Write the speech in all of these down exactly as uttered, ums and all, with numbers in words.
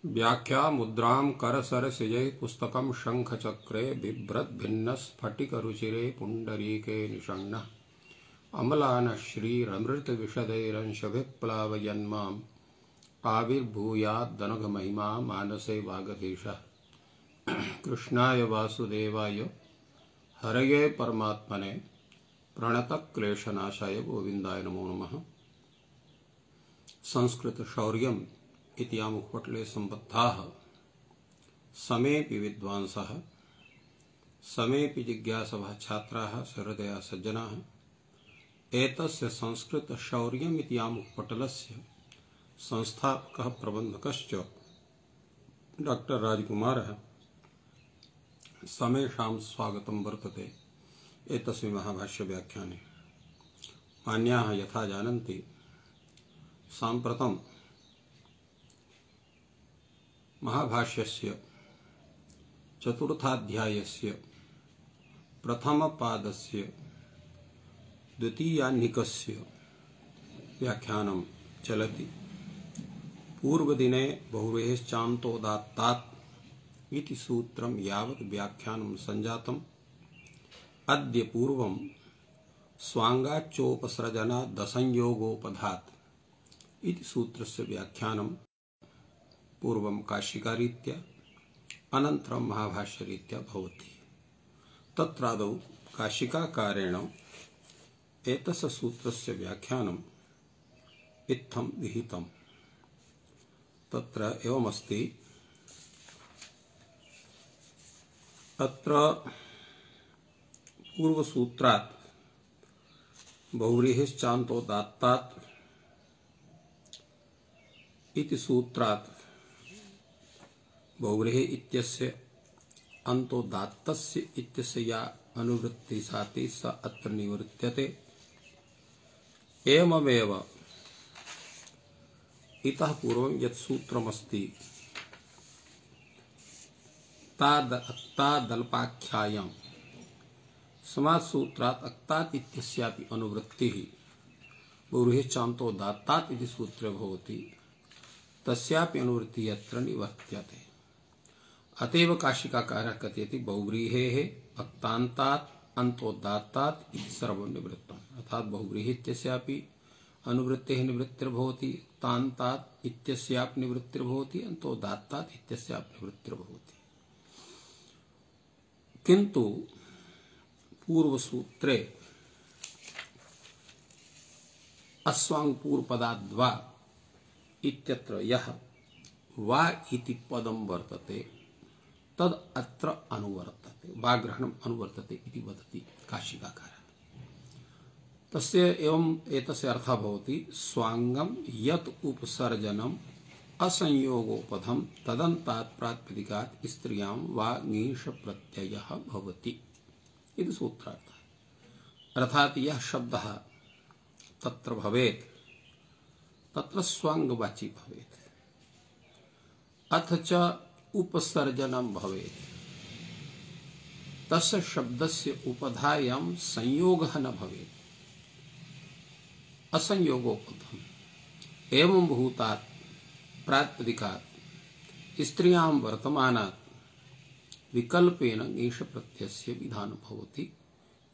व्याख्या मुद्रां करसरसिजै पुस्तकं शङ्खचक्रे बिभ्रद्भिन्नस्फटिकरुचिरे पुण्डरीके निषण्णः अमलानः श्रीरमृतविशदैरंशभिः प्लावयन्माम् आविर्भूयाद्दनघमहिमा मानसे वागधीशः। कृष्णाय वासुदेवाय हरये परमात्मने प्रणतक्लेशनाशाय गोविन्दाय नमो नमः। संस्कृत शौर्यम् इति मुखपटले सम्बद्धाः समेऽपि विद्वांसः समेऽपि जिज्ञासवः छात्राः सहृदयाः सज्जनाः एतस्य संस्कृत शौर्यम् इति मुखपटलस्य संस्थापकः प्रबन्धकश्च डॉक्टर राजकुमारः समेषां स्वागतं वर्तते एतस्मिन् महाभाष्य व्याख्याने। मान्याः यथा जानन्ति साम्प्रतं महाभाष्यस्य चतुर्थाध्यायस्य प्रथमपादस्य द्वितीयाह्निकस्य व्याख्यानं चलति। पूर्वदिने बहुव्रीहिश्चान्तोदात्तात् इति सूत्रं यावत् व्याख्यानं सञ्जातम्। अद्य पूर्वं स्वाङ्गाच्चोपसर्जनादसंयोगोपधात् इति सूत्रस्य व्याख्यानं पूर्वं काशिकारीत्या अनन्तरं महाभाष्यरीत्या भवति। तत्रादौ काशिकाकारेण एतस्य सूत्रस्य व्याख्यानम् इत्थं विहितम्। तत्र एवमस्ति, अत्र पूर्वसूत्रात् बहुव्रीहिश्चान्तोदात्तात् इति सूत्रात् बहुव्रीहि इत्यस्य अन्तोदात्तस्य इत्यस्य या अनुवृत्ति साति स अत्र निवर्त्यते। एवमेव इतः पूर्वं यत् सूत्रमस्ति तादल्पाख्यायां समाससूत्रात् अक्तात् इत्यस्यापि अनुवृत्तिः बहुव्रीहिश्चान्तोदात्तात् इति सूत्रे भवति, तस्यापि अनुवृत्तिः अत्र निवर्त्यते। अतएव काशिकाकारः कथयति बहुव्रीहेः अक्तान्तात् अन्तोदात्तात् इति सर्वं निवृत्तम्। अर्थात् बहुव्रीहि इत्यस्यापि अनुवृत्तेः निवृत्तिर्भवति, तान्तात् इत्यस्यापि निवृत्तिर्भवति, अन्तोदात्तात् इत्यस्यापि निवृत्तिर्भवति। किन्तु पूर्वसूत्रे अस्वाङ्पूर्वपदाद्वा इत्यत्र यः वा इति पदं वर्तते तद् अत्र अनुवर्तते, वाग्रहणम् अनुवर्तते इति वदति काशिकाकारः। तस्य एवं एतस्य अर्थः भवति स्वाङ्गं यत् उपसर्जनम् असंयोगोपधं तदन्तात् प्रातिपदिकात् स्त्रियां वा ङीष प्रत्ययः भवति इति सूत्रार्थः। अर्थात् यः शब्दः तत्र भवेत् तत्र स्वाङ्गवाची भवेत्, अथ च उपसर्जनं भवेत्, तस्य शब्दस्य उपधायां संयोगः न भवेत्, असंयोगोपधम्। एवं भूतात् प्रातिपदिकात् स्त्रियां वर्तमानात् विकल्पेन ङीष प्रत्ययस्य विधानं भवति।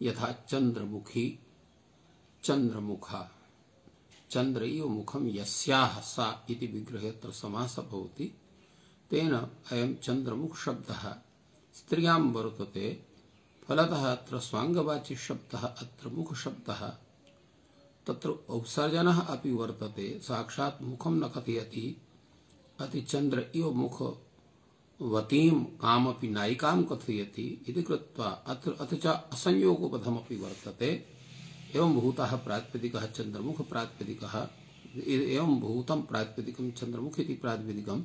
यथा चंद्रमुखी चंद्रमुखा, चंद्र इव मुखम यस्याः सा इति विग्रहे अत्र समासः भवति। तेन अयं चंद्रमुख शब्दः स्त्रियां वर्तते। फलतः अत्र स्वाङ्गवाची शब्दः अत्र मुख शब्दः, तत्र उपसर्जनः अपि वर्तते, साक्षात् मुखं न कथयति। अति चंद्र इव मुखवतीं कामपि नायिकां कथयति इति कृत्वा अत्र अथ च असंयोगोपधमपि वर्तते। एवं भूतः प्रातिपदिकः चंद्रमुख प्रातिपदिकः, एवं भूतं प्रातिपदिकं चंद्रमुख इति प्रातिपदिकं,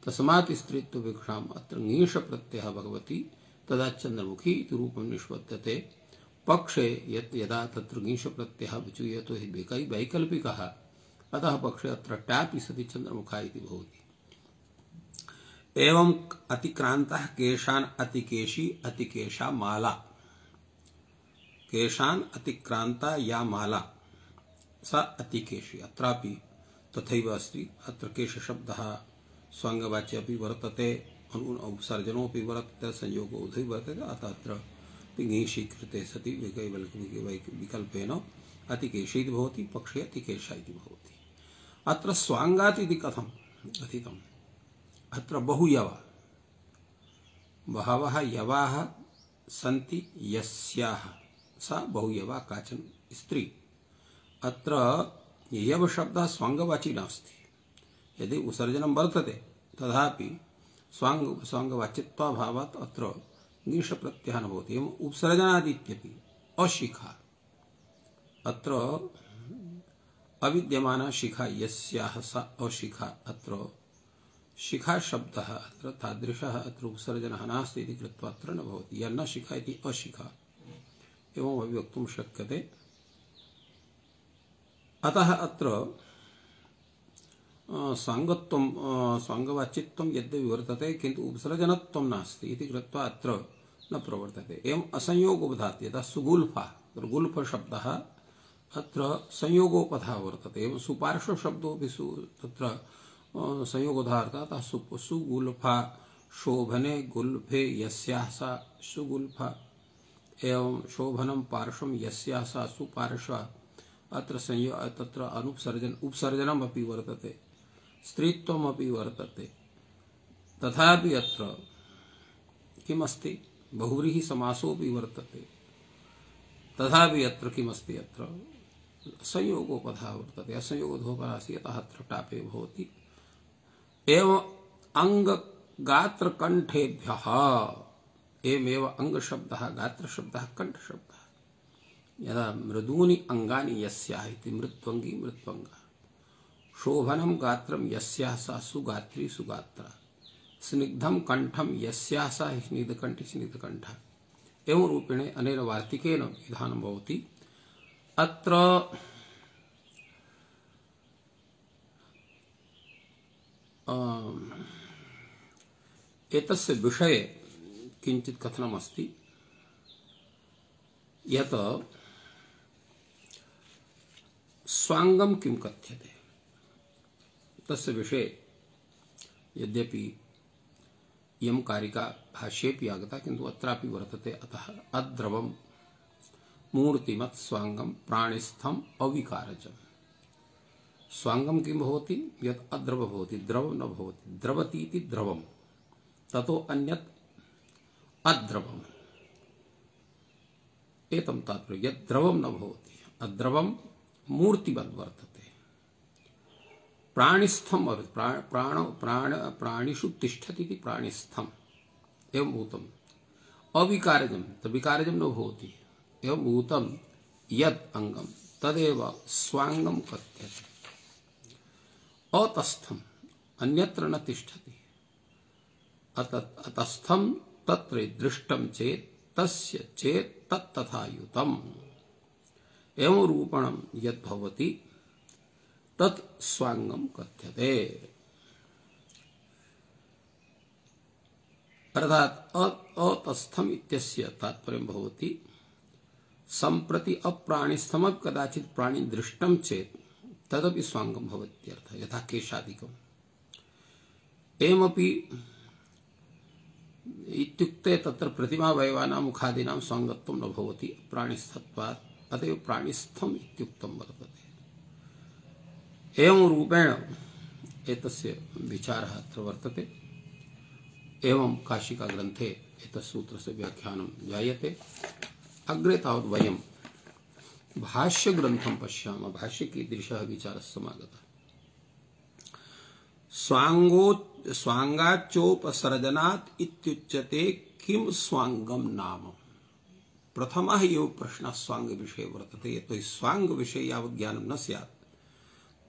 तस्मात् स्त्रीत्व विवक्षाम् अत्र ङीष प्रत्ययः भगवति, तदा चंद्रमुखी इति रूपं निष्पद्यते। पक्षे यत् यदा तत्र ङीष प्रत्ययः विचूयते हि वैकल्पिकः, अतः पक्षे अत्र ट्यापि सति चंद्रमुखा इति भवति। एवं अतिक्रान्तः केशान् अतिकेशी अतिकेशा माला, केशान् अतिक्रांता या माला सा अतिकेशी, अत्रापि तथैव अस्ति। अत्र केश शब्दः स्वांगवाच्य अपि वर्तते उपसर्जनोऽपि वर्तते संयोगो उभय वर्तते अतः अत्र पिङीषि कृते सति विकल्पेन अतिकेशि भवति पक्षे अतिकेशा इति भवति। अत्र स्वांगात् इति कथं कथितम्? अत्र बहुयवा बहवः यवाः सन्ति यस्याः सा बहुयवा काचन स्त्री। अत्र यव शब्दः स्वांगवाची नास्ति। यदि उपसर्जनं वर्तते तथापि स्वांग स्वांगवाचित्वाभावात् अत्र ङीष प्रत्ययः न भवति। एवं उपसर्जनादित्यपि अशिखा अत्र अविद्यमाना शिखा यस्याः सा अशिखा। अत्र शिखा शब्दः अत्र तादृशः अत्र उपसर्जनः नास्ति इति कृत्वा अत्र न भवति। यः न शिखा इति अशिखा एवम् अभिवक्तुं शक्यते। अतः अत्र स्वांगत्वं स्वांगवाचित्वं यद्यपि वर्तते किन्तु उपसर्जनत्वं नास्ति इति कृत्वा अत्र न प्रवर्तते। एवम् असंयोगोपधात् यदा सुगुल्फा गुल्फ शब्दः अत्र संयोगोपधा वर्तते। एवं सुपार्श्व शब्दोऽपि सु तत्र संयोगोधार्थः सुगुल्फा शोभने गुल्फे यस्याः सा सुगुल्फा। एवं शोभनं पार्श्वं यस्याः सा सुपार्श्वा। अत्र संयो तत्र अनुपसर्जन उपसर्जनम् अपि वर्तते, स्त्रीत्वम् अपि वर्तते। तथापि अत्र किमस्ति? बहुव्रीहि समासोऽपि वर्तते। तथापि अत्र किमस्ति? अत्र संयोगोपधा वर्तते। असंयोगोपधासि अतः अत्र टापे भवति। एवं अंग गात्र कंठेभ्यः एवमेव अंग शब्दः गात्र शब्दः कंठ शब्दः। यदा मृदूनि अंगानि यस्याः इति मृत्वंगी मृत्वंगा। शोभनं गात्रं यस्याः सा सुगात्री सुगात्रा। स्निग्धं कंठं यस्याः सा स्निग्धकंठी स्निग्धकंठा। एवं रूपेण अनेन वार्तिकेन विधानं भवति। अत्र एतस्य विषये किञ्चित् कथनमस्ति यत् स्वांगं किं कथ्यते तस्य विषये यद्यपि इयं कारिका भाष्येऽपि आगता किन्तु अत्रापि वर्तते। अतः अद्रवं मूर्तिमत् स्वांगं प्राणिस्थम् अविकारजम्। स्वांगं किं भवति? यत् अद्रव भवति, द्रव न भवति। द्रवति इति द्रवम्, ततो अन्यत् अद्रवम्। एतं तात्पर्यं यत् द्रवं न भवति। अद्रवं मूर्तिवत् वर्तते। प्राणिस्थम प्राण प्राण प्राण प्राणिषु तिष्ठति इति प्राणिस्थम एवं भूतम। अविकारजम तविकारजम न भवति। एवं भूतम यत् अंगम तदेव स्वांगम कथ्यते। अतस्थम अन्यत्र न तिष्ठति। अतस्थम तत्र दृष्टम चेत् तस्य चेत् तत् तथा युतम। एवं रूपणम यत् भवति तत् स्वांगम कथ्यते। अर्थात अतस्थम इत्यस्य तात्पर्यं भवति संप्रति अप्राणिस्थम कदाचित् प्राणि दृष्टम चेत् तदपि स्वांगम भवत्यर्थः। यथा केशादिकम् एवमपि इत्युक्ते तत्र प्रतिमावयवानां मुखादीनां स्वांगत्वं न भवति प्राणिस्थत्वात्। अतएव प्राणिस्थम इत्युक्तं वर्तते। एवं रूपेण एतस्य विचारः अत्र वर्तते। एवं काशिका ग्रन्थे एतस्य सूत्रस्य व्याख्यानं जायते। अग्रे तावत् वयं भाष्यग्रन्थं पश्यामः। भाष्ये कीदृशः विचारः समागतः। स्वांगो स्वांगाच्चोपसर्जनात् इत्युच्यते किं स्वांगम नाम। प्रथमः एव प्रश्नः स्वांग विषये वर्तते। यतो हि स्वांग विषये यावत् ज्ञानं न स्यात्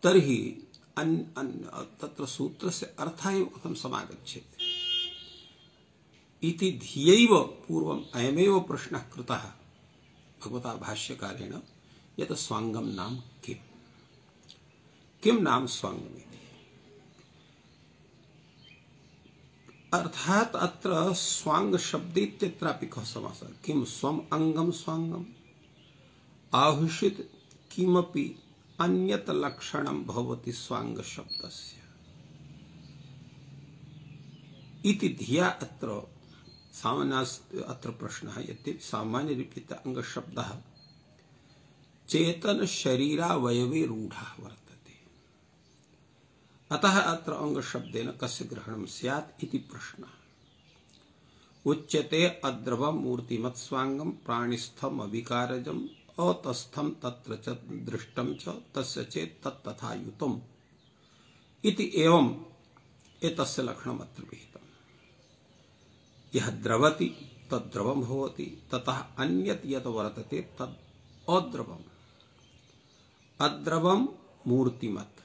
तर्हि अन्, अन्, तत्र सूत्रस्य अर्थः एव कथं समागच्छेत् इति धियैव पूर्वम् अयमेव प्रश्नः कृतः भगवता भाष्यकारेण यत् स्वांगम नाम किम्। किं नाम स्वांगम् इति। अर्थात अत्र स्वांग शब्देत्यत्रापि कः समासः। किं स्वम् अंगम स्वांगम आहुषित किमपि अन्यत लक्षणं भवति स्वांग शब्दस्य। इति धिया अत्र सामान्य अत्र प्रश्नः यद्यपि सामान्यरीत्या अंगशब्दः चेतन शरीरावयवे रूढः वर्तते, अतः अत्र अंगशब्देन कस्य ग्रहणं स्यात् इति प्रश्नः। उच्यते अद्रवं मूर्तिमत् स्वांगं प्राणिस्थम अविकारजम् अतस्थम तत्र च दृष्टं च तस्य चेत् तत् तथा युतम् इति एवं एतस्य लक्षणम् अत्र विहितम्। यः द्रवति तद् द्रवं भवति, ततः अन्यत् यत् वर्तते तद् अद्रवम्। अद्रवं मूर्तिमत्,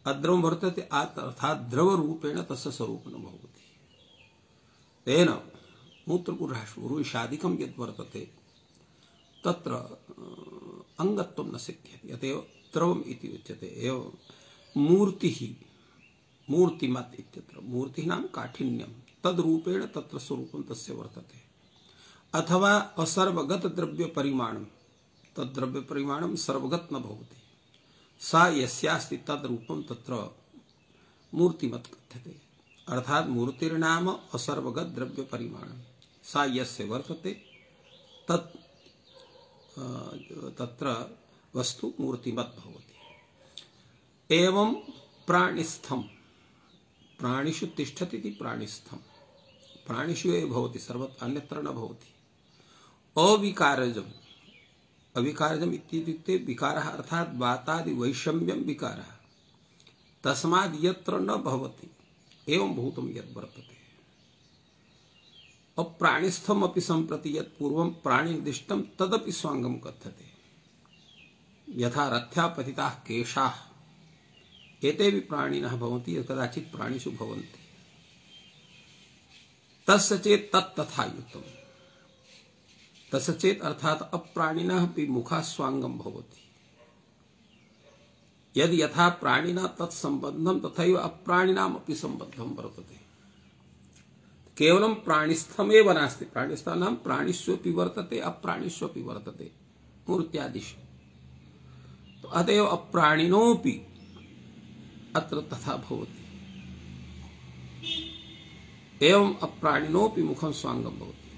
अद्रवं वर्तते अर्थात् द्रवरूपेण तस्य स्वरूपं न भवति। तेन मूत्रपुरुषादिकं यद् वर्तते तत्र अंगत्वं न सिद्ध्यति, अतएव द्रवम् इति उच्यते। एवं मूर्तिः मूर्तिमत् इत्यत्र मूर्तिः नाम काठिन्यं, तद्रूपेण तत्र स्वरूपं तस्य वर्तते। अथवा असर्वगत द्रव्य परिमाणं, तद्द्रव्य परिमाणं सर्वगत न भवति, सा यस्यास्ति तद्रूपं तत्र मूर्तिमत् कथ्यते। अर्थात मूर्तिर्नाम असर्वगत द्रव्य परिमाणं, सा यस्य वर्तते तत् तत्र वस्तु मूर्तिमत् भवति। एवं प्राणिस्थम, प्राणिषु तिष्ठति इति प्राणिस्थम, प्राणिषु एव भवति, सर्वत्र अन्यत्र न भवति। अविकारजम्, अविकारजम् इत्युक्ते विकारः अर्थात् वातादि वैषम्यं विकारः, तस्माद् यत्र न भवति एवं भूतं यद् वर्तते। अप्राणिस्थम अपि सम्प्रति यत् पूर्वं प्राणिनिर्दिष्टं तदपि स्वांगं कथ्यते। यथा रथ्या पतिताः केशाः, एतेऽपि प्राणिनः भवन्ति, कदाचित् प्राणिषु भवन्ति। तस्य चेत् तत् तथा युतम्, तस्य चेत् अर्थात् अप्राणिनः अपि मुखास्वांगं भवति। यद् यथा प्राणिना तत्संबद्धं तथैव अप्राणिनामपि संबद्धं वर्तते। केवलं प्राणिस्थमेव नास्ति, प्राणिस्थं नाम प्राणिष्वपि वर्तते अप्राणिष्वपि वर्तते मूर्त्यादिषु। तो अतएव अप्राणिनोऽपि अत्र तथा भवति। एवं अप्राणिनोऽपि मुखं स्वांगं भवति।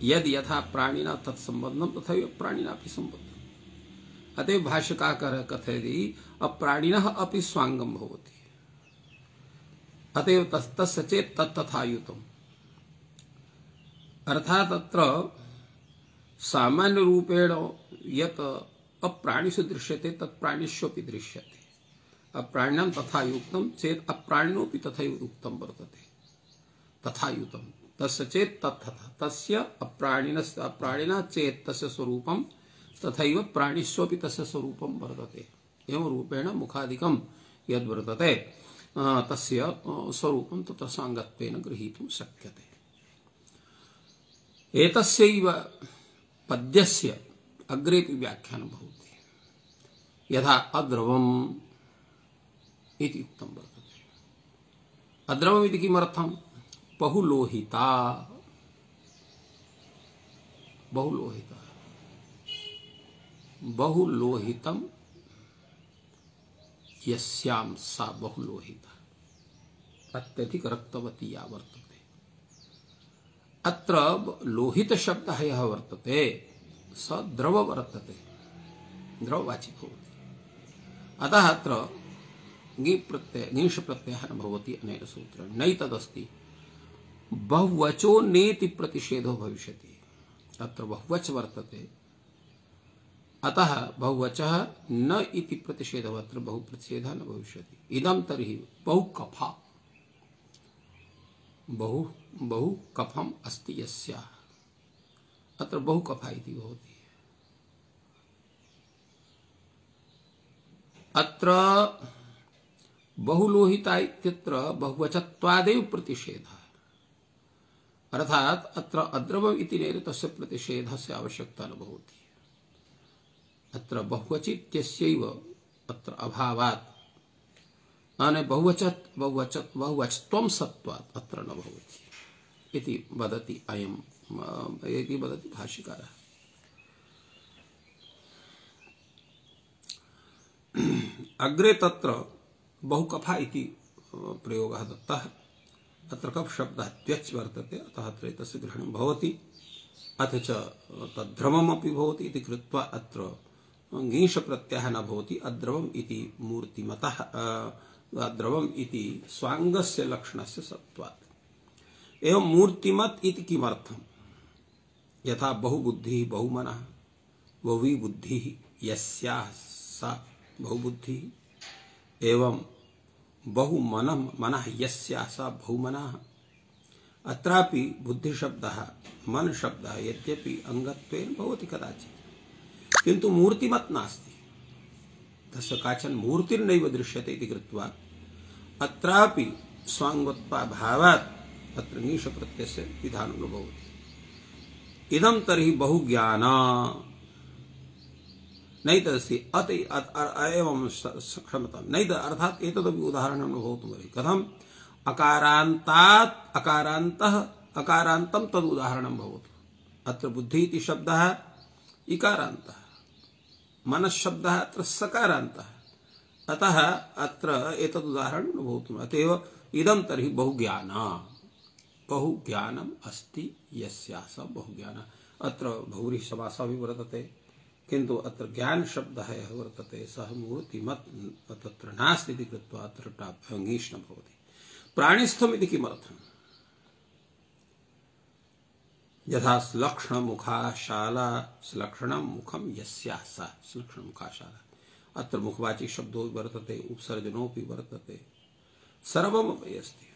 यद् यथा प्राणिना तत्संबद्धं तथैव प्राणिनापि संबद्धम्। अतएव भाष्यकार कथयति अप्राणिनः अपि स्वांगं भवति। अतएव तस्य चेत् तत् तथा युतम्। अर्थात् अत्र सामान्य रूपेण यत् अप्राणिषु दृश्यते तत् प्राणिष्वपि दृश्यते। अप्राणिनां तथा युक्तं चेत् अप्राणिनोऽपि तथैव उक्तं वर्तते, तथा युतं। तस्य चेत् तत् तथा, तस्य अप्राणिनस्य अप्राणिना चेत् तस्य स्वरूपं तथैव प्राणिष्वपि तस्य स्वरूपं वर्तते। एवं रूपेण मुखादिकं यद् वर्तते तस्य स्वरूपं तत्र सांगत्वेन गृहीतुं शक्यते। एतस्यैव पद्यस्य अग्रेपि व्याख्यानं भवति। यथा अद्रवम् इति उक्तं वर्तते। अद्रवम् इति किमर्थं? बहुलोहिता, बहुलोहिता, बहुलोहितं यस्यां सा बहुलोहिता, अत्यधिक रक्तवती या वर्तते। अत्र लोहित शब्दः यः वर्तते स द्रव वर्तते, द्रववाची भवति। अतः अत्र ङि प्रत्यय ङीष प्रत्ययः न भवति अनेन सूत्रेण। नैतदस्ति बहुवचो नेति प्रतिषेधो भविष्यति। अत्र बहुवच वर्तते, अतः बहुवचः न इति प्रतिषेधः, अत्र बहुप्रतिषेधः न भविष्यति। इदं तर्हि बहुकफा, बहु बहु कफम् अस्ति यस्याः, अत्र बहुकफा इति भवति। अत्र बहुलोहिता इत्यत्र बहुवचत्वादेव प्रतिषेधः, अर्थात अत्र अद्रवम् इति नेन तस्य प्रतिषेधस्य आवश्यकता न भवति। अत्र बहुवचि इत्यस्यैव अत्र अभावात् अने बहुवचत् बहुवचत् बहुवचत्वं सत्वात् अत्र न भवति इति वदति अयम् इति वदति भाष्यकारः। अग्रे तत्र बहुकफा इति प्रयोगः दत्तः। अत्र कप् शब्दः त्वच् वर्तते, अतः अत्र एतस्य ग्रहणं भवति। अथ च तद्ध्रममपि भवति इति कृत्वा अत्र ङीष प्रत्ययः न भवति। अद्रवम् इति मूर्तिमतः अद्रवम् इति स्वाङ्गस्य लक्षणस्य सत्त्वात्। एवं मूर्तिमत् इति किमर्थम्? यथा बहुबुद्धिः बहुमनः, बहुवी बुद्धिः यस्याः सा बहुबुद्धिः, एवं बहुमनः मनः यस्याः सा बहुमनः। अत्रापि बुद्धिशब्दः मन शब्दः यद्यपि अंगत्वेन भवति कदाचित्, किन्तु मूर्तिमत् नास्ति, तस्य काचन मूर्तिर्नैव दृश्यते इति कृत्वा अत्रापि स्वाङ्गोत्पाभावात् अत्र ङीष प्रत्ययस्य विधानं न भवति। इदं तर्हि बहुज्ञान नैतदस्ति अत एवं क्षमतां नैत अर्थात् एतदपि उदाहरणं न भवितुमर्हति। कथम्? अकारान्तात् अकारान्तः अकारान्तं तद् उदाहरणं भवतु। अत्र बुद्धि इति शब्दः इकारान्तः, मनश्शब्दः अत्र सकारान्तः, अतः अत्र एतद् उदाहरणं न भवितुम्। अतएव इदं तर्हि बहुज्ञान, बहुज्ञानम् अस्ति यस्याः सा बहुज्ञान। अत्र बहुव्रीहि समासः अपि वर्तते, किन्तु अत्र ज्ञान शब्दः यः वर्तते सः मूर्तिमत् तत्र नास्ति इति कृत्वा अत्र ङीष् न भवति। प्राणिस्थम् इति किमर्थम्? यथा श्लक्ष्णमुखाशाला, श्लक्ष्णं मुखं यस्याः सा श्लक्ष्णमुखाशाला। अत्र मुखवाची शब्दो वर्तते, उपसर्जनोऽपि वर्तते, सर्वमपि अस्ति,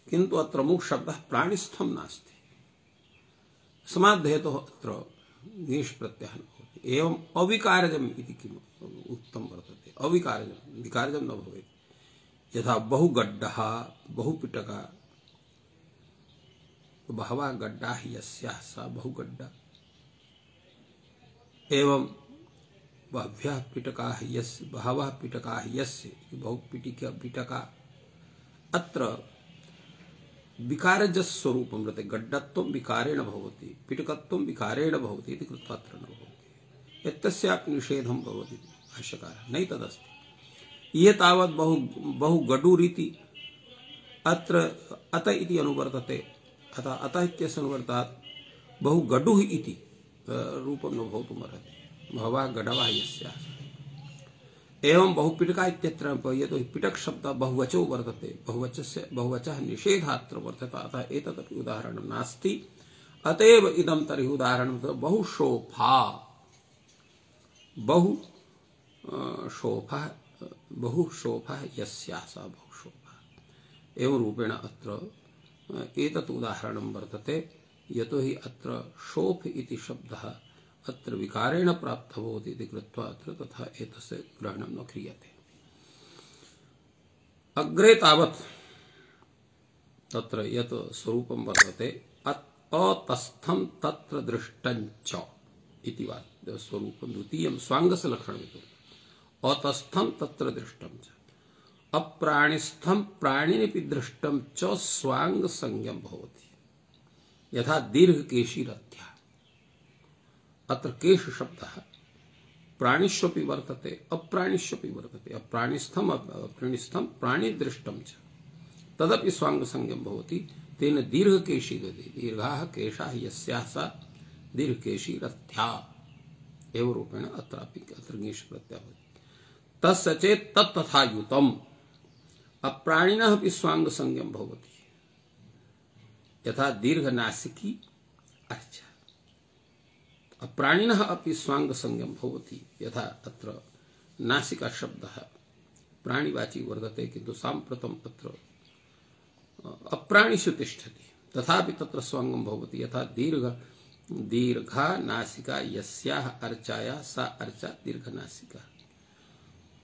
किन्तु अत्र मुख शब्दः प्राणिस्थं नास्ति। समाद्धेतोः अत्र ङीष् प्रत्ययः न भवति। एवं अविकारजम् इति किम् उक्तं वर्तते? अविकारजं, विकारजं न भवेत्। यथा बहुगड्डः बहुपिटका, बहवः गड्डाः यस्याः सा बहुगड्डा। एवं बह्व्यः पिटकाः यस्य बहवः पिटकाः यस्य बहुपिटिका पिटका। अत्र विकारजस्वरूपं वर्तते। गड्डत्वं विकारेण भवति, पिटकत्वं विकारेण भवति इति कृत्वा अत्र न भवति। एतस्यापि निषेधं भवति भाष्यकारः नैतदस्ति। ये तावत् बहु बहुगडुरिति अत्र अत इति अनुवर्तते, अतः अतः इत्यस्य अनुवर्तात् बहुगडुः इति रूपं न भवितुमर्हति। बहवः गडवः यस्याः। एवं बहुपिटका इत्यत्र यतो हि पिटक शब्दः बहुवचो वर्तते, बहुवचस्य बहुवचः निषेधात्र वर्तते, अतः एतदपि उदाहरणं नास्ति। अतएव इदं तर्हि उदाहरणं बहुशोभा, बहु शोभः बहुशोभः यस्याः सा बहुशोभा। एवं रूपेण अत्र एतत् उदाहरणं वर्तते, यतो हि अत्र शोभ इति शब्दः अत्र विकारेण प्राप्तः भवति इति कृत्वा अत्र तथा एतस्य ग्रहणं न क्रियते। अग्रे तावत् तत्र यत् स्वरूपं वर्तते अतस्थं तत्र दृष्टं च इति वा स्वरूपं द्वितीयं स्वाङ्गस्य लक्षणम्। अतस्थं तत्र दृष्टं च, अप्राणिस्थं प्राणिनिपि दृष्टं च स्वाङ्ग संज्ञं भवति। यथा दीर्घकेशी रथ्या, अत्र केश शब्दः प्राणिष्वपि वर्तते अप्राणिष्वपि वर्तते। अप्राणिस्थम अप्राणिस्थम प्राणिदृष्टं च तदपि स्वाङ्ग संज्ञं भवति। तेन दीर्घकेशी गति, दीर्घाः केशाः यस्याः सा दीर्घकेशी रथ्या। एवं रूपेण अत्रापि अत्र ङीष् प्रत्ययः भवति। तस्य चेत् तत् तथा युतम्। अप्राणिनः अपि स्वाङ्ग संज्ञं भवति। यथा दीर्घनासिकी अर्चा, अप्राणिनः अपि स्वाङ्ग संज्ञं भवति। यथा अत्र नासिका शब्दः प्राणिवाची वर्तते, किन्तु साम्प्रतम् अत्र अप्राणिषु तिष्ठति, तथापि तत्र स्वाङ्गं भवति। यथा दीर्घ दीर्घा नासिका यस्याः अर्चायाः सा अर्चा दीर्घनासिका।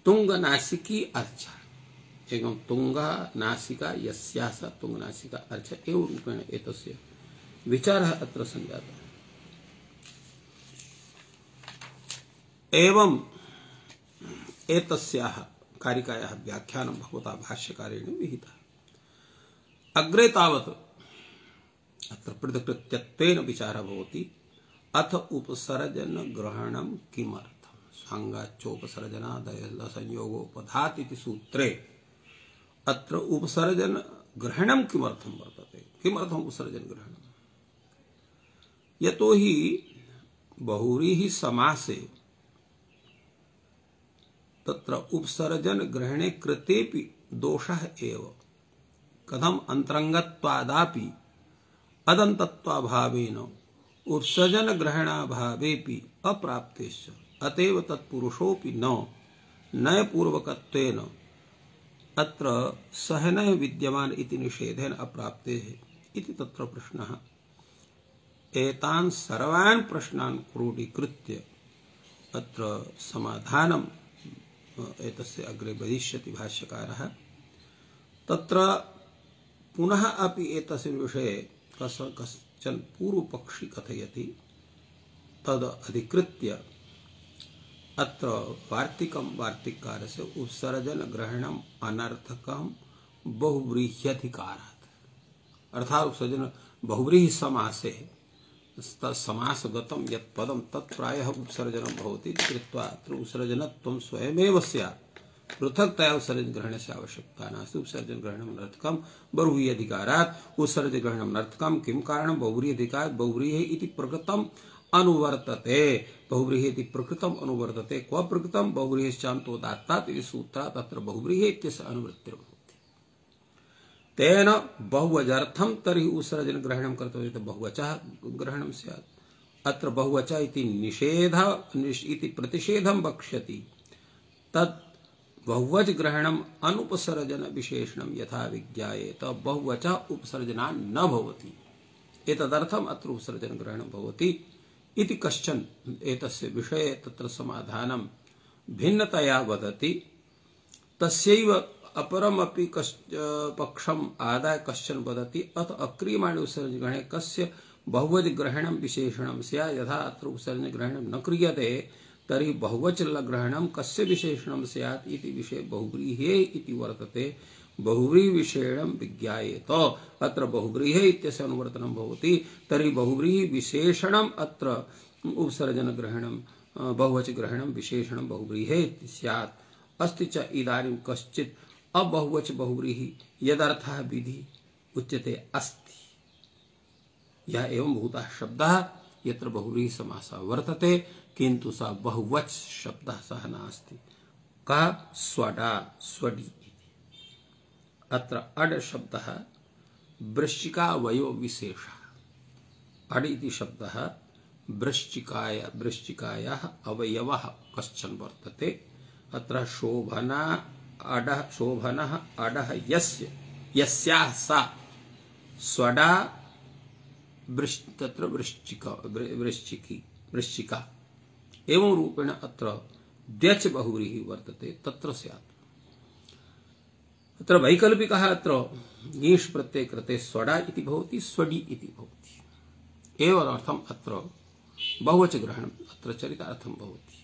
तुङ्गनासिकी अर्चा, एवं तुङ्गा नासिका यस्याः सा तुङ्गनासिका अर्चा। एवं रूपेण एतस्य विचारः अत्र सञ्जातः। एवं एतस्याः कारिकायाः व्याख्यानं भगवता भाष्यकारेण विहितः। अग्रे तावत् अत्र पृथक्कृत्यत्वेन विचारः भवति। अथ उपसर्जन ग्रहणं किमर्थं? स्वाङ्गाच्चोपसर्जनादय संयोगोपधात् इति सूत्रे अत्र उपसर्जन ग्रहणं किमर्थं वर्तते, किमर्थम् उपसर्जन ग्रहणं? यतो हि बहुव्रीहि समासे तत्र उपसर्जन ग्रहणे कृतेपि दोषः एव। कथम अंतरंगत्वादापि अदन्तत्वाभावेन उपसर्जन ग्रहणाभावेपि अप्राप्तेश्च अतएव तत्पुरुषोऽपि न नयपूर्वकत्वेन अत्र सहनः विद्यमान इति निषेधेन अप्राप्तेः इति तत्र प्रश्नः। एतान् सर्वान् प्रश्नान् क्रोडीकृत्य अत्र समाधानं एतस्य अग्रे वदिष्यति भाष्यकारः। तत्र पुनः अपि एतस्य विषये कस कश्चन पूर्वपक्षी कथयति। तद अधिकृत्य अत्र वार्तिकं वार्तिककारस्य उपसर्जन ग्रहणम् अनर्थकं बहुव्रीह्यधिकारात्, अर्थात् उपसर्जन बहुव्रीहि समासे समासगतं यत् पदं तत् प्रायः उपसर्जनं भवति कृत्वा अत्र उपसर्जनत्वं स्वयमेव स्यात्, पृथक्तया उपसर्जन ग्रहणस्य आवश्यकता नास्ति। उपसर्जन ग्रहणं नर्थकं बहुव्रीहि अधिकारात् उपसर्जन ग्रहणं नर्थकं। किं कारणं? बहुव्रीहि अधिकारात् बहुव्रीहि इति प्रकृतम् अनुवर्तते। बहुव्रीहि इति प्रकृतम् अनुवर्तते। क्व प्रकृतं? बहुव्रीहिश्चान्तोदात्तात् इति सूत्रात् अत्र बहुव्रीहि इत्यस्य अनुवृत्तिर्भवति। तेन बहुवचनार्थं तर्हि उपसर्जन ग्रहणं कर्तव्यं, बहुवचः ग्रहणं स्यात्। अत्र बहुवचः इति निषेध इति प्रतिषेधं वक्ष्यति। तत् बहुवच ग्रहणम् अनुपसर्जन विशेषणं यथा विज्ञायेत बहुवचः उपसर्जनात् न भवति। एतदर्थम् अत्र उपसर्जन ग्रहणं भवति इति कश्चन एतस्य विषये तत्र समाधानं भिन्नतया वदति। तस्यैव अपरमपि पक्षम् आदाय कश्चन वदति अथ अक्रियमाणे उपसर्जन ग्रहणे कस्य बहुवच ग्रहणं विशेषणं स्यात्। यथा अत्र उपसर्जन ग्रहणं न क्रियते तर्हि बहुवच ग्रहणं कस्य विशेषणं स्यात् इति विषये बहुव्रीहे इति वर्तते। बहुव्रीहि विशेषणं विज्ञायेत, अत्र बहुव्रीहे इत्यस्य अनुवर्तनं भवति। तर्हि बहुव्रीहि विशेषणम् अत्र उपसर्जन ग्रहणं बहुवच ग्रहणं विशेषणं बहुव्रीहे इति स्यात्। अस्ति च इदानीं कश्चित् अबहुवच बहुव्रीहि यदर्थः विधि उच्यते अस्ति। यह एवं भूतः शब्दः यत्र बहुव्रीहि समासः वर्तते किन्तु स बहुवच शब्दः सः नास्ति। कः? स्वडा स्वडि इति। अत्र अड शब्दः वृश्चिकावयव विशेषः। अड इति शब्दः वृश्चिकाय वृश्चिकायाः अवयवः कश्चन वर्तते। अत्र शोभना अडः शोभनः अडः यस्य यस्याः सा स्वडा तत्र वृश्चिका वृश्चिकी वृश्चिका एवं रूपेण अत्र द्यच बहुव्रीहि वर्तते तत्र स्यात्। अत्र वैकल्पिकः अत्र ङीष् प्रत्यये कृते स्वडा इति भवति, स्वडि इति भवति। एवमर्थम् अत्र बहुवच ग्रहणम् अत्र चरितार्थं भवति।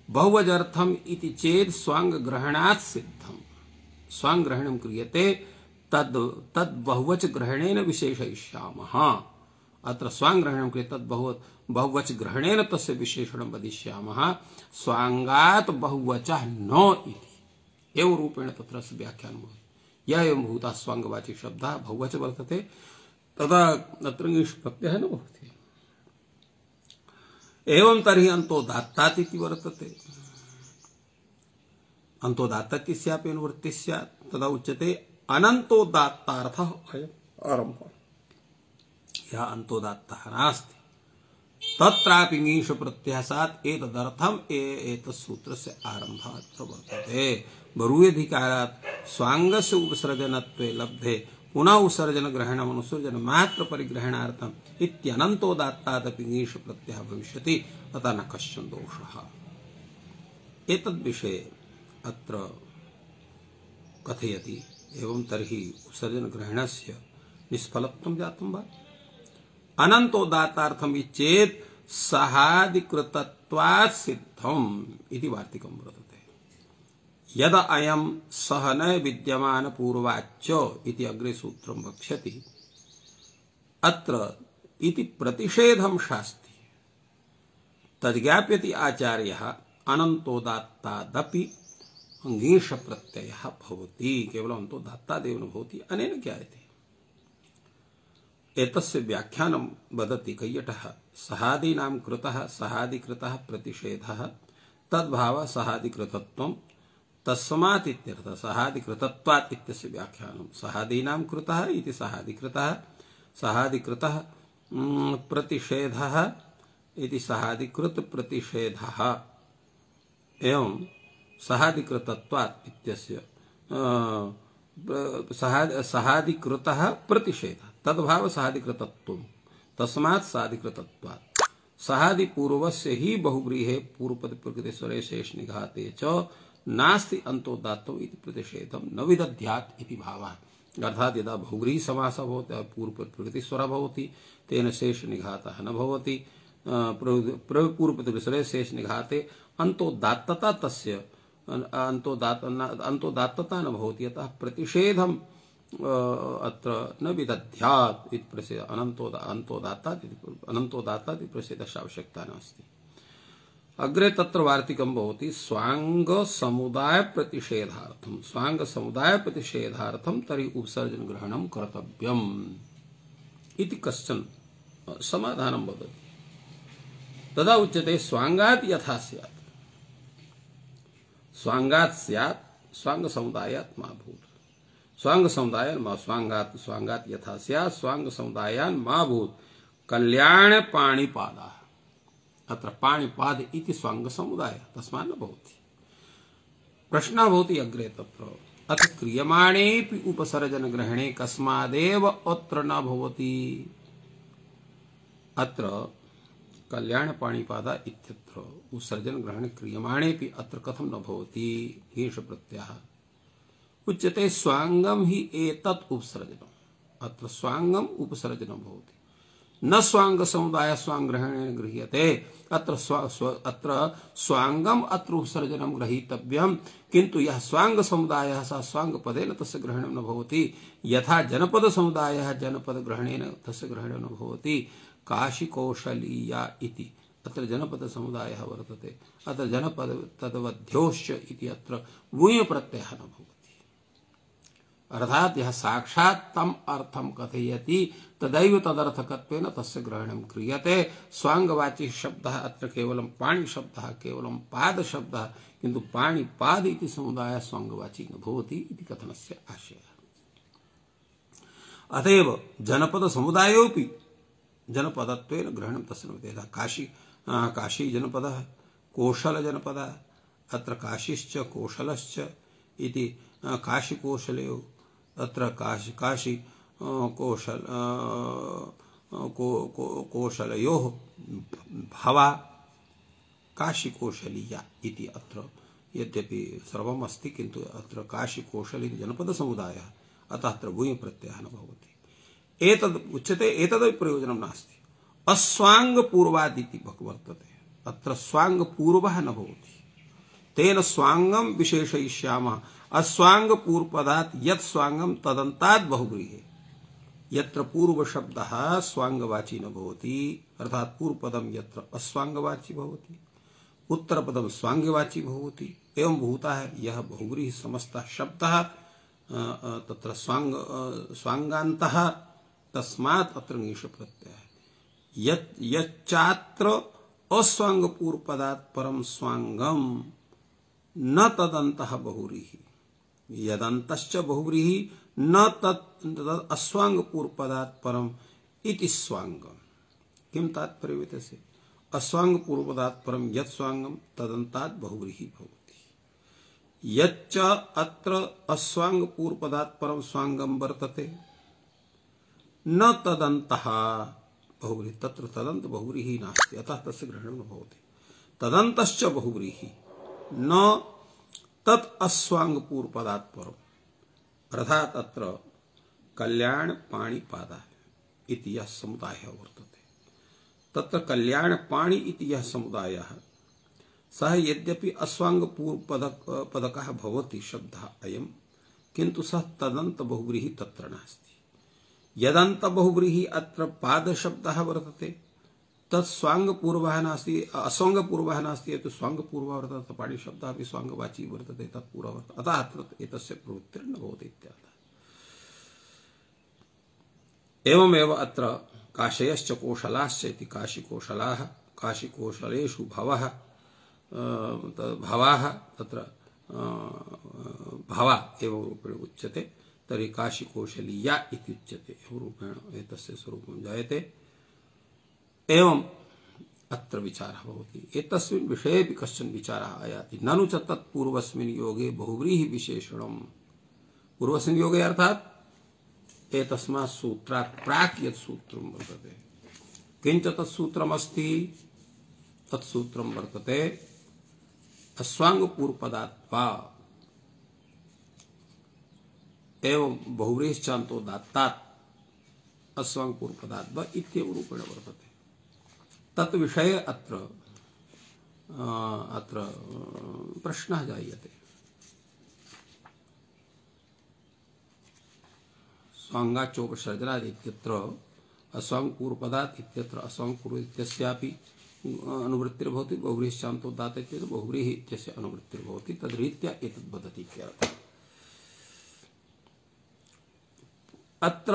बहुवचनार्थम् इति चेत् स्वाङ्ग ग्रहणात् सिद्धम्। स्वाङ्ग ग्रहणं क्रियते तद् तद् बहुवच ग्रहणेन विशेषयिष्यामः। अत्र स्वाङ्ग ग्रहणं क्रियते तद् बहु बहुवच ग्रहणेन तस्य विशेषणं वदिष्यामः। स्वाङ्गात् बहुवचः न इति एवं रूपेण तत्र व्याख्यानं भवति। यः एवं भूतः स्वाङ्गवाची शब्दः बहुवच वर्तते तदा अत्र ङीष् प्रत्ययः न भवति। एवं तर्हि अन्तोदात्तात् इति वर्तते। अन्तोदात्तात् स्यापि अनुवृत्तिः स्यात्। तदा उच्यते अनन्तोदात्तार्थः अयम् आरम्भः। यः अन्तोदात्तः नास्ति तत्रापि ङीष् प्रत्ययः स्यात्। एतदर्थम् एतत् सूत्रस्य आरम्भः अत्र वर्तते। बहुव्रीह्यधिकारात् स्वाङ्गस्य उपसर्जनत्वे लब्धे पुनः उपसर्जन ग्रहणम् अनुसर्जन मात्र परिग्रहणार्थम् इत्यनन्तोदात्तादपि ङीष् प्रत्ययः भविष्यति। अतः न कश्चन दोषः। एतद्विषये अत्र कथयति। एवं तर्हि उपसर्जन ग्रहणस्य निष्फलत्वं जातं वा? अनन्तोदात्तार्थम् चेत् सहादिकृतत्वात् सिद्धम् इति वार्तिकं वर्तते। यद अयं सह न विद्यमान पूर्वाच्च इति अग्रे सूत्रं वक्ष्यति। अत्र इति प्रतिषेधं शास्ति तद्ज्ञाप्यति आचार्यः अनन्तोदात्तादपि ङीष प्रत्ययः भवति, केवलम् अन्तोदात्तादेव न भवति। अनेन ज्ञायते। एतस्य व्याख्यानं वदति कैयटः। सहादीनां कृतः सहादिकृतः प्रतिषेधः तद्भावः सहादिकृतत्वं तस्मात् इत्यर्थः। सहादिकृतत्वात् इत्यस्य व्याख्यानं सहादीनां कृतः इति सहादिकृतः, सहादिकृतः प्रतिषेधः इति सहादिकृत प्रतिषेधः एवं सहादिकृतत्वात् इत्यस्य सहादिकृतः प्रतिषेधः तद्भाव सहादिकृतत्वं तस्मात् सहादिकृतत्वात्। सहादिपूर्वस्य हि बहुव्रीहे पूर्वपद प्रकृते स्वरे शेष निघाते च नास्ति अन्तोदात्तौ इति प्रतिषेधं न विदध्यात् इति भावः। अर्थात् यदा बहुव्रीहि समासः भवति पूर्वपद प्रकृति स्वर भवति तेन शेष निघातः न भवति। पूर्वपद स्वरे शेष निघाते अन्तोदात्तता तस्य अन्तोदात्त अन्तोदात्तता न भवति। अतः प्रतिषेधं अत्र न विदध्यात् इति प्रसिद्ध अनन्तोदात्तात् अनन्तोदात्तात् इति प्रसिद्धस्य आवश्यकता नास्ति। अग्रे तत्र वार्तिकं भवति स्वांग समुदाय प्रतिषेधार्थं। स्वांग समुदाय प्रतिषेधार्थं तर्हि उपसर्जन ग्रहणं कर्तव्यम् इति कश्चन समाधानं वदति। तदा उच्यते स्वांगात् यथा स्यात्। स्वांगात् स्यात् स्वांग समुदायात् मा भूत्। स्वांग समुदायान् मा स्वांगात् स्वांगात् यथा स्यात् स्वांग समुदायान् मा भूत्। कल्याण पाणिपादः। अत्र पाणिपाद इति स्वांग समुदाय तस्मात् न भवति। प्रश्नः भवति अग्रे तत्र अथ क्रियमाणेऽपि उपसर्जन ग्रहणे कस्मादेव अत्र न भवति। अत्र कल्याण पाणिपाद इत्यत्र उपसर्जन ग्रहणे क्रियमाणेऽपि अत्र कथं न भवति। ङीष प्रत्ययः उच्यते स्वांगम हि एतत् उपसर्जनम्। अत्र स्वांगम उपसर्जनं भवति न स्वांग समुदाय स्वांग ग्रहणेन गृह्यते। अत्र स्व, स्व अत्र स्वांगम अत्र उपसर्जनं ग्रहीतव्यं किन्तु यः स्वांग समुदायः सः स्वांग पदेन तस्य ग्रहणं न भवति। यथा जनपद समुदायः जनपद ग्रहणेन तस्य ग्रहणं न भवति। काशी कौशलीया इति अत्र जनपद समुदायः वर्तते। अत्र जनपद तद्वध्योश्च इति अत्र वूय प्रत्ययः न भवति। अर्थात यह साक्षात् तम अर्थम कथयति तदैव तदर्थकत्वेन तस्य ग्रहणं क्रियते। स्वांगवाची शब्दः अत्र केवलं पाणि शब्दः केवलं पाद शब्दः किन्तु पाणि पाद इति समुदायः स्वांगवाची न भवति इति कथनस्य आशयः। अतएव जनपद समुदायोऽपि जनपदत्वेन ग्रहणं तस्य न भवति। काशी काशी जनपदः कोशल जनपदः अत्र काशीश्च कोशलश्च इति काशी कोशलयोः अत्र काशी काशी कौशल को, को, कौशलयोः भावा काशी कौशलीया इति अत्र यद्यपि सर्वम् अस्ति किन्तु अत्र काशी कौशल इति जनपद समुदायः अतः अत्र भूय प्रत्ययः न भवति। एतद् उच्यते एतदपि प्रयोजनं नास्ति। अस्वांग पूर्वादिति वर्तते। अत्र स्वांग पूर्वः न भवति। तेन स्वांगम विशेषयिष्यामः। अस्वांग पूर्वपदात् यत् स्वांगम तदन्तात् बहुव्रीहे। यत्र पूर्व शब्दः स्वांगवाची न भवति अर्थात् पूर्वपदं यत्र अस्वांगवाची भवति उत्तरपदं स्वांगवाची भवति एवं भूतः यः बहुव्रीहि समस्तः शब्दः तत्र स्वांग स्वांगान्तः तस्मात् अत्र ङीष प्रत्ययः। यत् यच्चात्र अस्वांग पूर्वपदात् परं स्वांगम न तदन्तः बहुव्रीहि। यदन्तश्च बहुव्रीहि न तत् अस्वांग पूर्वपदात् परम इति स्वांगम। किं तात्पर्य एतस्य? अस्वांग पूर्वपदात् परम यत् स्वांगम तदन्तात् बहुव्रीहि भवति। यच्च अत्र अस्वांग पूर्वपदात् परम स्वांगम वर्तते न तदन्तः बहुव्रीहि। तत्र तदन्त बहुव्रीहि नास्ति अतः तस्य ग्रहणं न भवति। तदन्तश्च बहुव्रीहि न तत् अस्वांग पूर्वपदात् परम। अर्थात अत्र कल्याण पाणिपादः इति यः समुदायः वर्तते। तत्र कल्याण पाणि इति यः समुदायः सः यद्यपि अस्वांग पूर्वपदक पदकः भवति शब्दः अयं किन्तु सः तदन्त बहुव्रीहि तत्र नास्ति। यदन्त बहुव्रीहि अत्र पाद शब्दः वर्तते तत्स्वांग पूर्वः नास्ति, अस्वांग पूर्वः नास्ति, तो स्वांग पूर्वः वर्तते, पाणि शब्दः अपि स्वांगवाची वर्तते, तत्पूर्वः वर्तते, अतः तत् एतस्य प्रवृत्तिर्न भवति इत्यर्थः। एवमेव अत्र काशयश्च कोशलाश्च इति काशिकोशलाः, काशिकोशलेषु भवः भवाः, तत्र भवा एवं रूपेण उच्यते, तर्हि काशिकोशलीया इति उच्यते, एवं रूपेण एतस्य स्वरूपं जायते। एवं अत्र विचारः भवति। एतस्मिन् विषयेपि कश्चन विचारः आयाति। ननु च तत्पूर्वस्मिन् योगे बहुव्रीहि विशेषणम्। पूर्वस्मिन् योगे अर्थात् एतस्मात् सूत्रात् प्राक् यत् सूत्रं वर्तते, किञ्च तत्सूत्रमस्ति, तत्सूत्रं वर्तते अस्वांगपूर्वपदात्वा एवं बहुव्रीहिश्चान्तो दात्तात् अस्वांगपूर्वपदात्वा इत्येव रूपेण वर्तते। तत् विषये अत्र अत्र प्रश्नः जायते। स्वांगाच्चोपसर्जनात् इत्यत्र अस्वांगपूर्वपदात् इत्यत्र अस्वांगपूर्व इत्यस्यापि अनुवृत्तिर्भवति, बहुव्रीहिश्चान्तो दात्त इत्यत्र बहुव्रीहि इत्यस्य अनुवृत्तिर्भवति। तद्रीत्या एतद् वदति इत्यर्थः। अत्र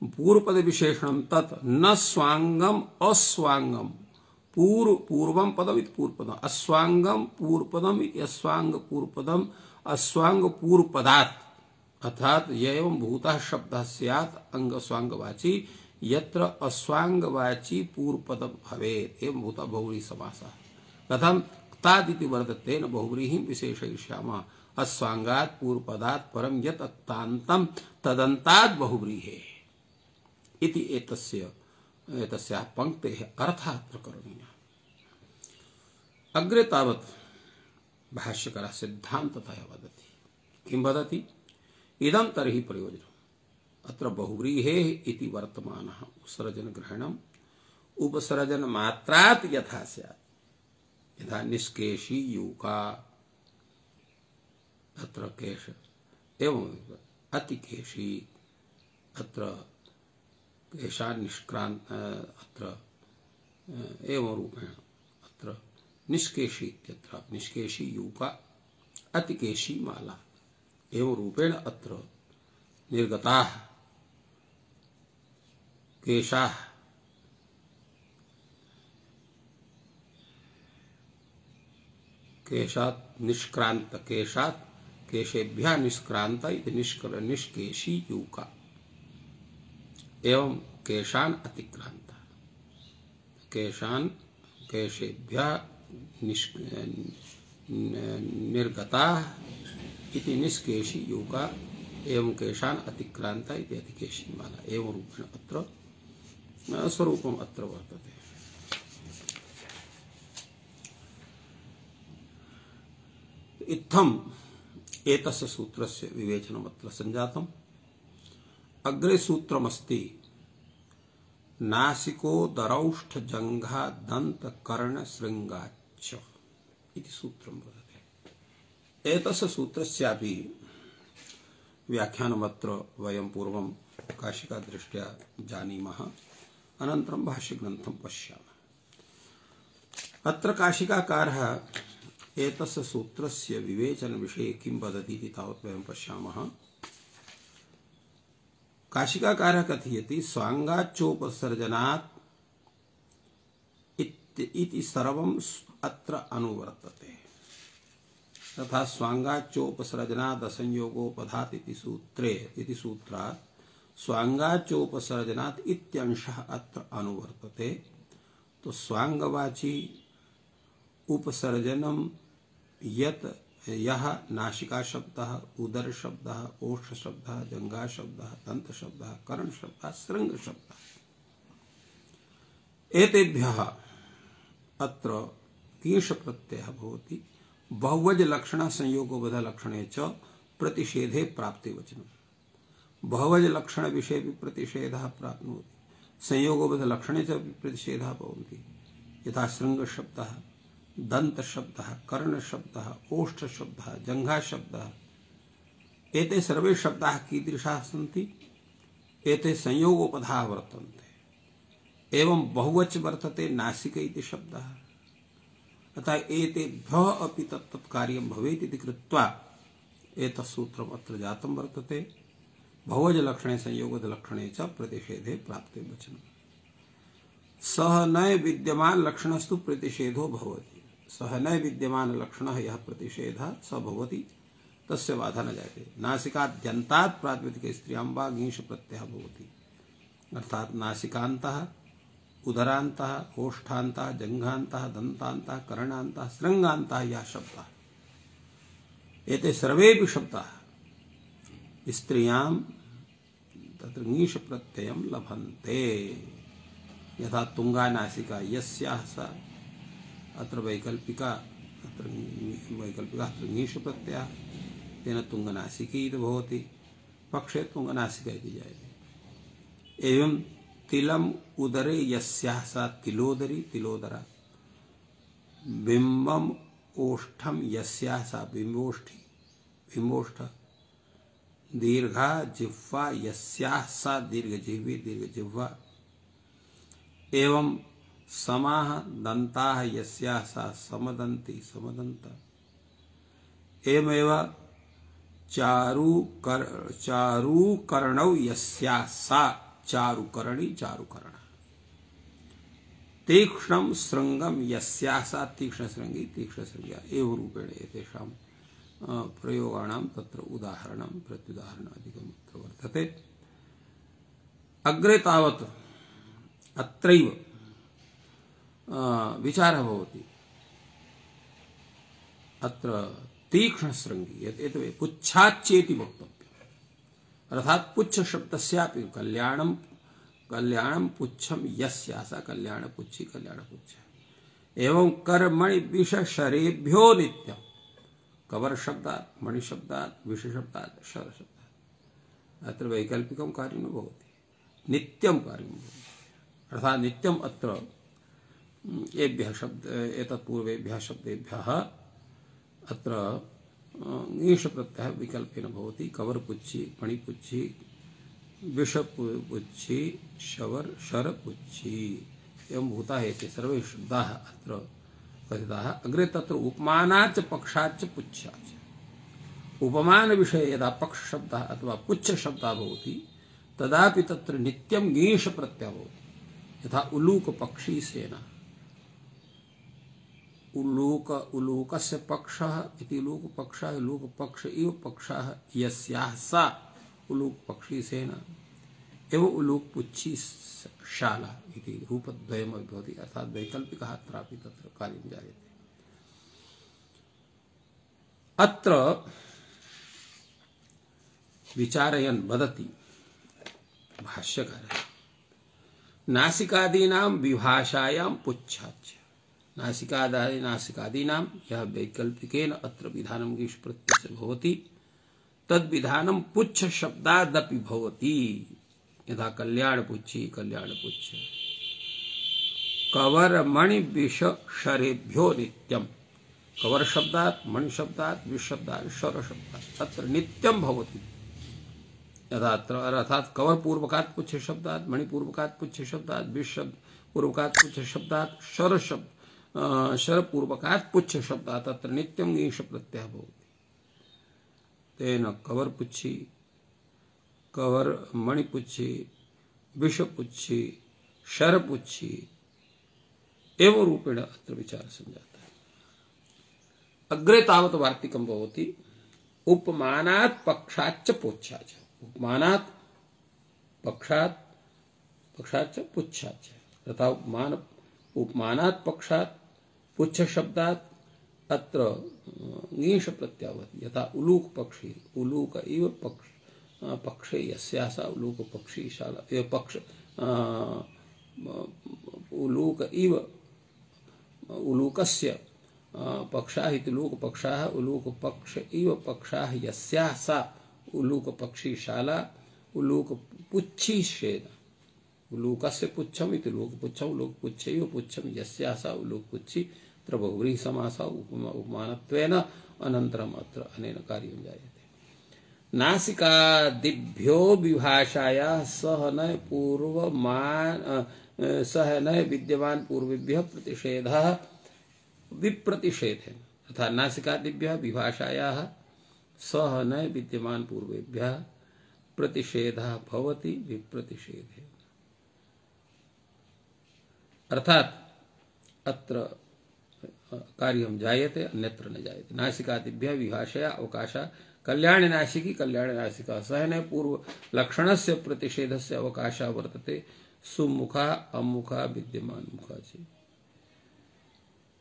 पूर्वपद विशेषणं तत् न स्वांगम अस्वांगम, पूर्व पूर्वम पदम इति पूर्वपदम, अस्वांगम पूर्वपदम इति अस्वांग पूर्वपदम, अस्वांग पूर्वपदात् अर्थात एवं भूतः शब्दः स्यात् अंग स्वांगवाची, यत्र अस्वांगवाची पूर्वपदम भवेत्, एवं भूतः बहुव्रीहि समासः। कथं तादिति वर्तते, न बहुव्रीहिं विशेषयिष्यामः, अस्वांगात् पूर्वपदात् परं यत् अक्तान्तं तदन्तात् बहुव्रीहेः इति एतस्य एतस्याः पंक्तेः अर्थः अत्र करणीयः। अग्रे तावत् भाष्यकारः सिद्धान्ततः वदति। किं वदति? इदं तर्हि प्रयोजनम्। अत्र बहुव्रीहेः इति वर्तमानः उपसर्जनग्रहणम् उपसर्जनमात्रात् यथा स्यात्, यथा निष्केशी यूका, अत्र केश, एवं अतिकेशी, अत्र केशान् निष्क्रान्त, अत्र एवं रूपेण अत्र निष्केशी इत्यत्र निष्केशी यूका, अतिकेशी माला, एवं रूपेण अत्र निर्गताः केशाः केशात् निष्क्रांत, केशात् केशेभ्यः निष्क्रांत इति निष्केशी यूका, एवं केशान अतिक्रांत, केशान केशेभ्यः निर्गता इति निष्केशी यूका, एवं केशान अतिक्रांत इति अतिकेशी माला, एवं रूपेण अत्र स्वरूपम् अत्र वर्तते। इत्थम् एतस्य सूत्रस्य विवेचनम् अत्र सञ्जातम्। अग्रे सूत्रमस्ति नासिको दरौष्ठ जंघा दंत कर्ण श्रृंगाच्च इति सूत्रं वर्तते। एतस्य सूत्रस्यापि व्याख्यानमत्र वयं पूर्वं काशिका दृष्ट्या जानीमः, अनन्तरं भाष्यग्रन्थं पश्यामः। अत्र काशिकाकारः एतस्य सूत्रस्य विवेचन विषये किं वदति इति तावत् वयं पश्यामः। काशिकाकारः कथयति स्वांगाच्चोपसर्जनात् इति सर्वम् अत्र अनुवर्तते, तथा स्वांगाच्चोपसर्जनात् असंयोगोपधात् इति सूत्रे इति सूत्रात् स्वांगाच्चोपसर्जनात् इत्यंशः अत्र अनुवर्तते। तो स्वांगवाची उपसर्जनम यत् यह नासिका शब्दः, उदर शब्दः, ओष्ठ शब्दः, जंघा शब्दः, दंत शब्दः, कर्ण शब्दः, श्रृंग शब्दः, एतेभ्यः अत्र कीश प्रत्ययः भवति। बहुवचन लक्षण संयोगोबध लक्षणे च प्रतिषेधे प्राप्ति वचनम्। बहुवचन लक्षण विषये भी प्रतिषेधः प्राप्नोति, संयोगोबध लक्षणे च प्रतिषेधः भवन्ति। यथा श्रृंग शब्दः, दंत शब्दः, कर्ण शब्दः, ओष्ठ शब्दः, जंघा शब्दः, एते सर्वे शब्दाः कीदृशाः सन्ति? एते संयोगोपधाः वर्तन्ते। एवं बहुवच वर्तते नासिक इति शब्दः। अतः एतेभ्यः अपि तत्तत् कार्यं भवेत् इति कृत्वा एतत् सूत्रम् अत्र जातं वर्तते। बहुवच लक्षणे संयोगद लक्षणे च प्रतिषेधे प्राप्ते वचनम्। सह न विद्यमान लक्षणस्तु प्रतिषेधो भवति। सह न विद्यमान लक्षणः यः प्रतिषेधः स भवति तस्य बाधा न जायते। नासिकाद्यन्तात् प्रातिपदिके स्त्रियां वा ङीष प्रत्ययः भवति। अर्थात नासिकान्तः, उदरान्तः, ओष्ठान्तः, जङ्घान्तः, दन्तान्तः, कर्णान्तः, शृङ्गान्तः यः शब्दः, एते सर्वेपि शब्दाः स्त्रियां तत्र ङीष प्रत्ययं लभन्ते। यथा तुंगा नासिका यस्याः सा, अत्र वैकल्पिका, अत्र वैकल्पिका अत्र ङीष प्रत्ययः, तेन तुंगनासिकी इति भवति। पक्षे तुंगनासिका इति जायते। एवं तिलम उदरे यस्याः सा तिलोदरी तिलोदरा। बिंबम ओष्ठम यस्याः सा बिंबोष्ठी बिंबोष्ठ। दीर्घा जिह्वा यस्याः सा दीर्घजिह्वी दीर्घजिह्वा। एवं समाः दन्ताः यस्याः सा समदन्ती समदन्ता। एवमेव चारु कर चारु कर्णौ यस्याः सा चारुकर्णी चारुकर्ण। तीक्ष्णं श्रृंगम यस्याः सा तीक्ष्णश्रृंगी तीक्ष्णश्रृंग्या। एवं रूपेण एतेषां प्रयोगाणां तत्र उदाहरणं प्रत्युदाहरणादिकम् अत्र वर्तते। अग्रे तावत् अत्रैव विचारः भवति। अत्र तीक्ष्णश्रृंगी एतत् पुच्छाच्चेति वक्तव्यम्। अर्थात् पुच्छ शब्दस्यापि कल्याणं कल्याणं पुच्छं यस्याः सा कल्याणपुच्छी कल्याणपुच्छ। एवं कर्मणि विशेषरेभ्यो नित्यम्। कवर शब्दात् मणि शब्दात् विष शब्दात् शर शब्दात्। अत्र वैकल्पिकं कार्यं न भवति, नित्यं कार्यं भवति। अर्थात् नित्यम् अत्र एभ्यः शब्द एतत् पूर्वेभ्यः शब्देभ्यः अत्र ङीष प्रत्ययः विकल्पेन भवति। कवरपुच्छी मणिपुच्छी विषपुच्छी शवर शरपुच्छी एवं भूताः एते सर्वे शब्दाः अत्र कथिताः। अग्रे तत्र उपमानाच्च पक्षाच्च पुच्छाच्च। उपमान विषये यदा पक्ष शब्दः अथवा पुच्छ शब्दः भवति तदापि तत्र नित्यं ङीष प्रत्ययः भवति। यथा उलूक पक्षी सेना। उलूक उलूकस्य पक्षः इति उलूक पक्षः उलूक पक्ष इव पक्षः यस्याः सा उलूक पक्षी सेना। एवं उलूक पुच्छी शाला इति रूपद्वयमपि भवति। अर्थात् वैकल्पिकः अत्रापि तत्र कार्यं जायते। अत्र विचारयन् वदति भाष्यकारः नासिकादीनां विभाषायां पुच्छाच्च। नासिकादि नासिकादीनां यः वैकल्पिकेन अत्र विधानं ङीष प्रत्ययस्य भवति तद्विधानं पुच्छ शब्दादपि भवति। यथा कल्याणपुच्छी कल्याणपुच्छ। कवर मणि विष शरेभ्यो नित्यम्। कवर शब्दात् मणि शब्दात् विष शब्दात् शर शब्दात् तत्र नित्यं भवति। यथा अत्र अर्थात् कवर पूर्वकात् पुच्छ शब्दात् मणि पूर्वकात् पुच्छ शब्दात् विष पूर्वकात् पुच्छ शब्दात् शर शब्द शर पूर्वकात् पुच्छ शब्दात् तत्र नित्यं ङीष प्रत्ययः भवति। तेन कवर पुच्छी कवर मणिपुच्छी विषपुच्छी शरपुच्छी एवं रूपेण अत्र विचार संजातः। अग्रे तावत् वार्तिकं भवति उपमानात् पक्षाच्च पुच्छाच्च। उपमानात् पक्षात् पक्षाच्च पुच्छाच्च। तथा उपमान उपमानात् पक्षात् पुच्छ शब्दात् अत्र ङीष प्रत्ययः भवति। यथा उलूक पक्षी उलूक इव पक्ष पक्षे यस्याः सा उलूक पक्षी शाला एव पक्ष उलूक इव उलूकस्य पक्षाः इति उलूक पक्षाः उलूक पक्ष इव पक्षाः यस्याः सा उलूक पक्षी शाला उलूक पुच्छी शेना। उलूकस्य पुच्छम इति उलूक पुच्छम उलूक पुच्छ इव पुच्छम यस्याः सा उलूक पुच्छी। अत्र बहुव्रीहि समासः उपमानत्वेन अनन्तरम् अत्र अनेन कार्यं जायते। नासिकादिभ्यो विभाषायाः सह न पूर्वमान सह न विद्यमान पूर्वेभ्यः प्रतिषेधः विप्रतिषेधेन तथा नासिकादिभ्यः विभाषायाः सह न विद्यमान पूर्वेभ्यः प्रतिषेधः भवति विप्रतिषेधेन। अर्थात अत्र कार्यं जायते अन्यत्र न जायते। नासिकादिभ्यः विभाषया अवकाशः कल्याण नासिकी कल्याण नासिका सहन पूर्व लक्षणस्य प्रतिषेधस्य अवकाशः वर्तते सुमुखा अमुखा विद्यमान मुखा च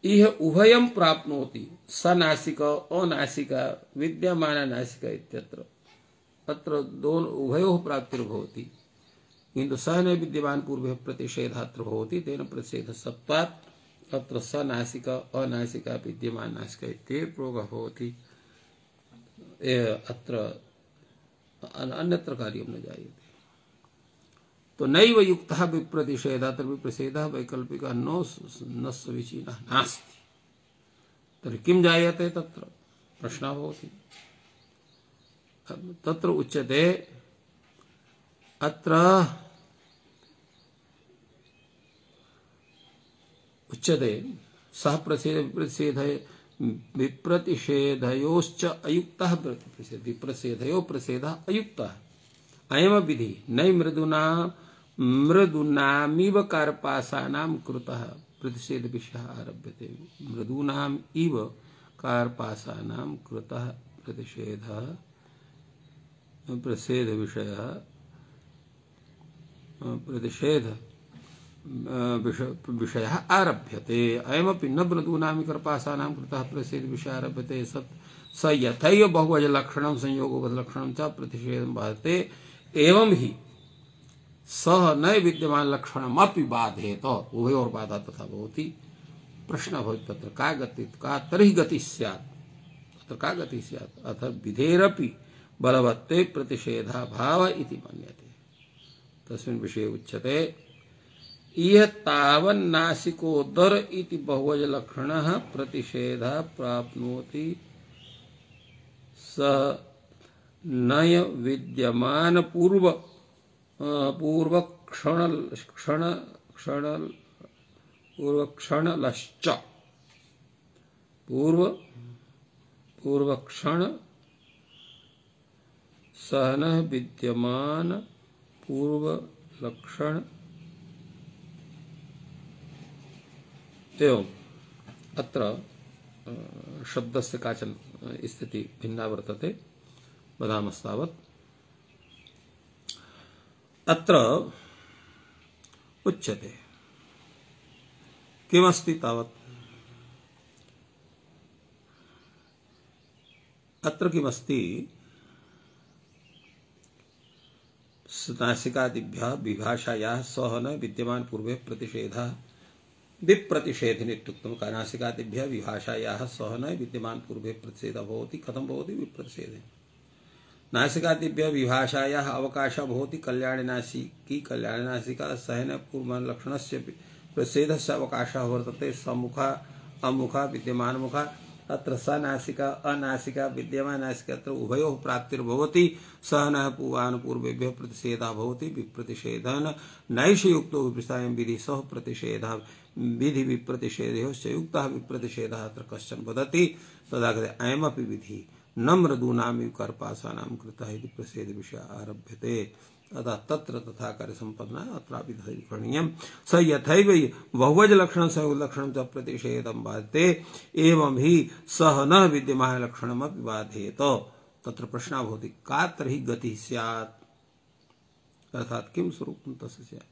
इह उभयं प्राप्नोति स नासिका अनासिका विद्यमान नासिका इत्यत्र अत्र दोनों उभयोः प्राप्तिर्भवति किन्तु स न विद्यमान पूर्वे प्रतिषेधः अत्र भवति तेन प्रतिषेधसत्वात् अत्र स नासिका अनासिका विद्यमान नासिका इत्येव प्रयोगः भवति। अत्र अन्यत्र कार्यं न जायते। तो नैव युक्तः विप्रतिषेधः तर्हि विप्रतिषेधः वैकल्पिकः न न समीचीनः नास्ति। तर्हि किं जायते तत्र प्रश्नः भवति। तत्र उच्यते अत्र उच्यते सः प्रतिषेध विप्रतिषेधयोश्च अयुक्तः प्रतिषेध विप्रतिषेधयो प्रतिषेधः अयुक्तः अयम विधि नै मृदुना मृदूनामिव कार्पासानां कृतः प्रतिषेध विषयः आरभ्यते। मृदूनाम् इव कार्पासानां कृतः प्रतिषेधः प्रतिषेध विषयः प्रतिषेध विषयः आरभ्यते। अयमपि न मृदूनामि कार्पासानां कृतः प्रतिषेध विषयः आरभ्यते सत् स यथैव बहुवचन लक्षणं संयोगबद्ध लक्षणं च प्रतिषेधं बाधते एवं ही सह न विद्यमान लक्षणमपि बाधेत उभयोर बाधा तथा भवति। प्रश्न भवति तत्र का गति का तर्हि गति स्यात् तत्र का गति स्यात् अथ विधेरपि बलवत्ते प्रतिषेधा भाव इति मन्यते। तस्मिन् विषये उच्यते इह तावन्नासिकोदर इति बहुवचन लक्षणः प्रतिषेधः प्राप्नोति स नय विद्यमान पूर्व पूर्व क्षण क्षण क्षण पूर्व क्षणलश्च पूर्व पूर्व क्षण सहन विद्यमान पूर्व लक्षण एवं अत्र शब्दस्य काचन स्थिति भिन्ना वर्तते वदामस्तावत्। अत्र उच्यते किमस्ति तावत् अत्र किमस्ति नासिकादिभ्यः विभाषायाः सह न विद्यमान पूर्वे प्रतिषेधः विप्रतिषेधेन इत्युक्तं नासिकादिभ्यः विभाषायाः सह न विद्यमान पूर्वे प्रतिषेधः भवति कथं भवति विप्रतिषेधेन। नासिकादिभ्यः विभाषायाः अवकाशः भवति कल्याण नासिकी कल्याण नासिका सहन पूर्व लक्षणस्य प्रतिषेधस्य अवकाशः वर्तते सम्मुखा अमुखा विद्यमान मुखा अत्र स नासिका अनासिका विद्यमान नासिका अत्र उभयोः प्राप्तिर्भवति सहनः पूर्वान् पूर्वेभ्यः प्रतिषेधः भवति विप्रतिषेधेन नैष युक्तो विप्रतिषेधं विधि सह प्रतिषेधः विधि विप्रतिषेधयोश्च युक्तः विप्रतिषेधः अत्र कश्चन वदति तदा कथ्यते अयमपि विधि न मृदूनामिव कार्पासानां कृतः इति प्रतिषेध विषयः आरभ्यते अतः तत्र तथा कार्य संपन्ना अत्रापि करणीयं स यथैव बहुवचन लक्षणं संयोग लक्षणं च प्रतिषेधं बाधते एवं ही सह न विद्यमान लक्षणमपि बाधेत। तत्र प्रश्नः भवति का तर्हि गतिः स्यात् अर्थात् किं स्वरूपं तस्य स्यात्।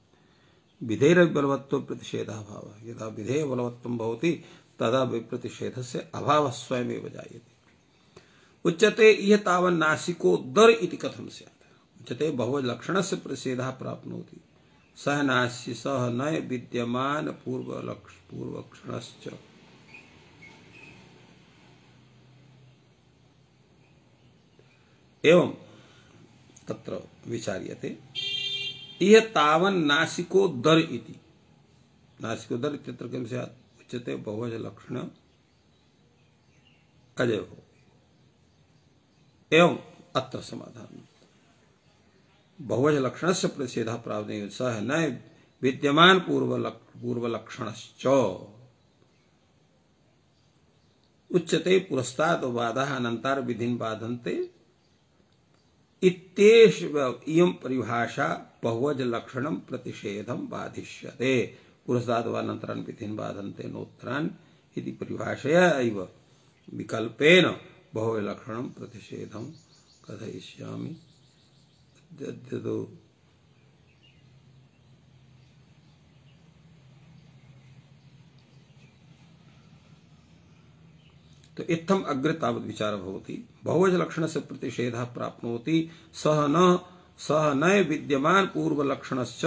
विधेरपि बलवत्तो प्रतिषेधः अभावः यदा विधेय बलवत्वं भवति तदा विप्रतिषेधस्य अभावः स्वयमेव जायते। उच्यते इह तावन्नासिको दर इति कथं स्यात् उच्यते बहुवचन लक्षणस्य प्रतिषेधः प्राप्नोति सह नास्य सह न विद्यमान पूर्व लक्ष पूर्वक्षणश्च एवं तत्र विचार्यते इह तावन्नासिको दर इति नासिको दर इत्यत्र किं स्यात् उच्यते बहुवचन लक्षण अजय हो एवं अत्र समाधान बहुवचन लक्षणस्य प्रतिषेधः प्राप्नोति सह न विद्यमान पूर्वलक्षणश्च उच्यते पुरस्तात् बाधाः अनन्तार विधिं बाधन्ते इत्येष इयं परिभाषा बहुवज लक्षणं प्रतिषेधं बाधिष्यते। पुरस्तात् वा अनन्तरान् विधिं बाधन्ते नोत्तरान् इति परिभाषया एव विकल्पेन बहुवज लक्षणं प्रतिषेधं कथयिष्यामि। तो इत्थम अग्रे तावत् विचारः भवति। बहुवचन लक्षणस्य प्रतिषेधः प्राप्नोति सह न सह न विद्यमान पूर्वलक्षणश्च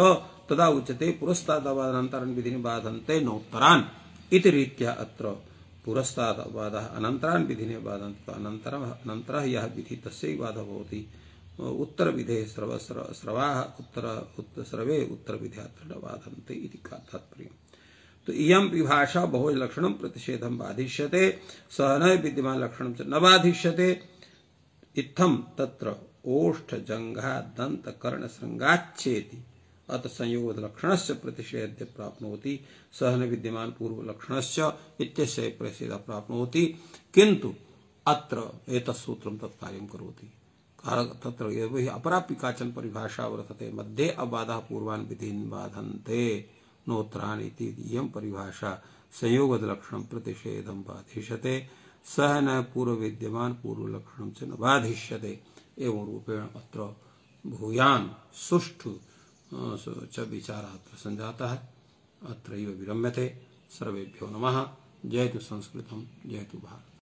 तदा उच्यते पुरस्तादवादनन्तरं विधिं बाधन्ते नोत्तरान् इति रीत्या अत्र पुरस्तादवादः अनन्तरान् विधिं बाधन्ते अनन्तरम् अनन्तरः यः विधिः तस्यैव बाधः भवति। उत्तरविधेः स्रव स्रवाः उत्तर स्रवे उत्तरविधेः अत्र न बाधन्ते इति तात्पर्यम्। तो इयं विभाषा बहुवचन लक्षणं प्रतिषेधं बाधिष्यते सह न विद्यमान लक्षणं च न बाधिष्यते। इत्थं तत्र ओष्ठ जंघा दंत कर्ण श्रृंगाच्छेति अत संयोग लक्षणस्य प्रतिषेध्य प्राप्नोति सह न विद्यमान पूर्व लक्षणस्य इत्यस्य प्रतिषेधः प्राप्नोति किंतु अत्र एतत् सूत्रं तत्कार्यं करोति। तत्र एव अपरापि काचन परिभाषा वर्तते मध्ये अबाधः पूर्वान् विधीन् बाधन्ते नोत्तरान् इति इयं परिभाषा संयोगद लक्षणं प्रतिषेधं बाधिष्यते सह न पूर्व विद्यमान पूर्व लक्षणं च न बाधिष्यते। एवं रूपेण अत्र भूयान् सुष्ठु च विचारः अत्र सञ्जातः। अत्रैव विरम्यते। सर्वेभ्यो नमः। जयतु संस्कृतं, जयतु भारत।